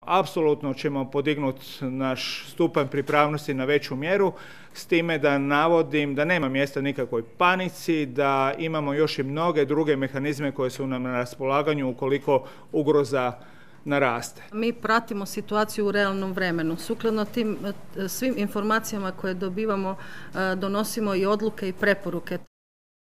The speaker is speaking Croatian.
apsolutno ćemo podignuti naš stupanj pripravnosti na veću mjeru, s time da navodim da nema mjesta nikakvoj panici, da imamo još i mnoge druge mehanizme koje su nam na raspolaganju ukoliko ugroza naraste. Mi pratimo situaciju u realnom vremenu. Sukladno tim svim informacijama koje dobivamo, donosimo i odluke i preporuke.